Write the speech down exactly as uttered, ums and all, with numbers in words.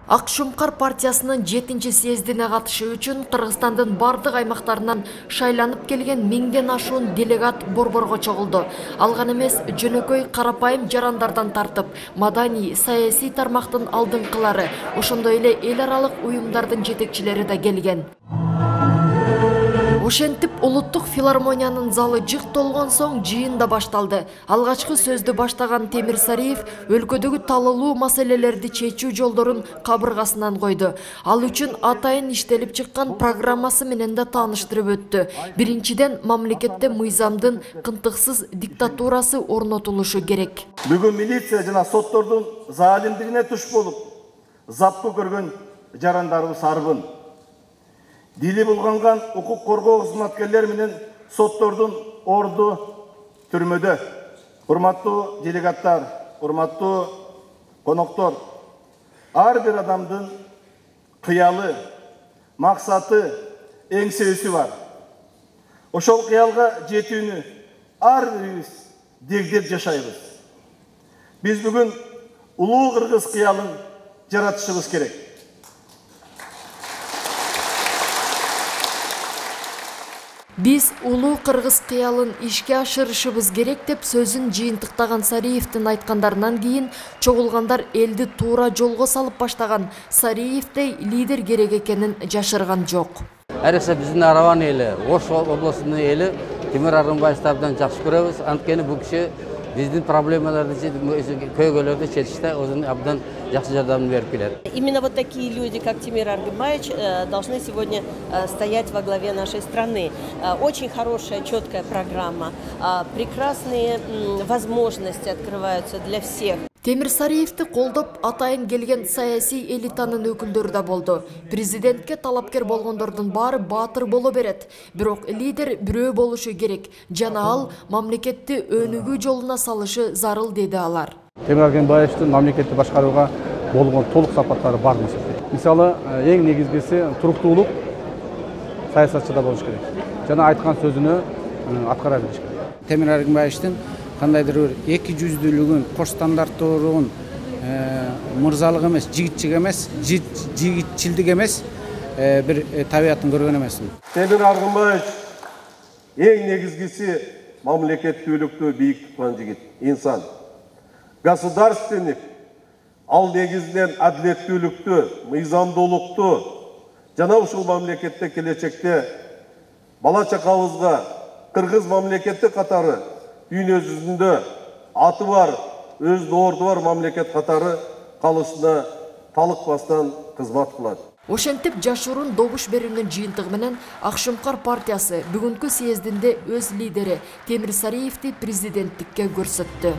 Ак Шумкар партиясынын жетинчи съездине катышуу үчүн Кыргызстандын бардык аймактарынан шайланып келген миңден ашуун делегат борборго чогулду. Алган эмес жөнөкөй карапайым жарандардан тартып, маданий, саясий тармактын алдыңкылары, ошондой эле эл аралык уюмдардын жетекчилери да келген. Ошентип улуттук филармониянын залы жык толгон соң жыйын да башталды. Алгачкы сөздү баштаган Темир Сариев өлкөдөгү талалуу маселелерди чечүү жолдорун кабыргасынан койду. Ал үчүн атайын иштелип чыккан программасы менен да тааныштырып өттү. Биринчиден, мамлекетте мыйзамдын кынтыксыз диктатурасы орнотулушу керек. Бүгүн милиция жана соттордун залимдигине туш болуп, запкы көргөн жарандарыбыз арбын. Дили булганган укук коргоо кызматкерлери менен соттордун орду түрмөдө. Урматтуу делегаттар, урматтуу коноктор, ар бир адамдын кыялы, максаты, эңсөөсү бар. Ошол кыялга жетүүнү ар бирибиз дегдеп жашайбыз. Биз бүгүн улуу кыргыз кыялын жаратышыбыз керек. Биз улуу кыргыз кыялын ишке ашырышыбыз керек деп сөзүн жыйынтыктаган Сариевдин айткандарынан кийин чогулгандар элди туура жолго салып баштаган Сариевдей лидер керек экенин жашырган жок. Айрыкча биздин Арабан эли, Ош областынын эли Темир Аргынбаевди абдан жакшы көрөбүз. Анткени бул киши биздин проблемаларды, көйгөйлөрдү чечиште өзүнүн абдан жакшы жардамын берип келет. Именно вот такие люди, как Темир Аргынбаевич, должны сегодня стоять во главе нашей страны. Очень хорошая, четкая программа, прекрасные возможности открываются для всех. Темир Сариевди колдоп атайын келген саясий элитанын өкүлдөрү да болду. Президентке талапкер болгондордун баары баатыр боло берет. Бирок лидер бирөө болушу керек. Жана ал мамлекетти өнүгүү жолуна салышы зарыл, деди алар. Темир Аргынбаевдин мамлекетти башкарууга болгон толук сапаттары бар эмес. Мисалы, эң негизгиси туруктуулук саясатчыда болуш керек. Жана айткан сөзүнө аткара билиш керек. Темир Аргынбаевдин кандайдыр бир эки жүздүүлүгүн, кош стандарттуулугун, мырзалык эмес, жигитчилик эмес, жигитчилдик эмес бир табиятын көргөн эмесмин. Темир Аргынбаевич эң негизгиси мамлекеттүүлүктү бийик туткан жигит, инсан. Государственник, ал негизинен адилеттүүлүктү, мыйзамдуулукту жана ушул мамлекетте келечекте бала чакабызга кыргыз мамлекети катары дүйнө жүзүндө аты бар, өз орду бар мамлекет катары калышына талыкпастан кызмат кылат. Ошентип жашыруун добуш берүүнүн жыйынтыгы менен Ак Шумкар партиясы бүгүнкү съездинде өз лидери Темир Сариевди президенттикке көрсөттү.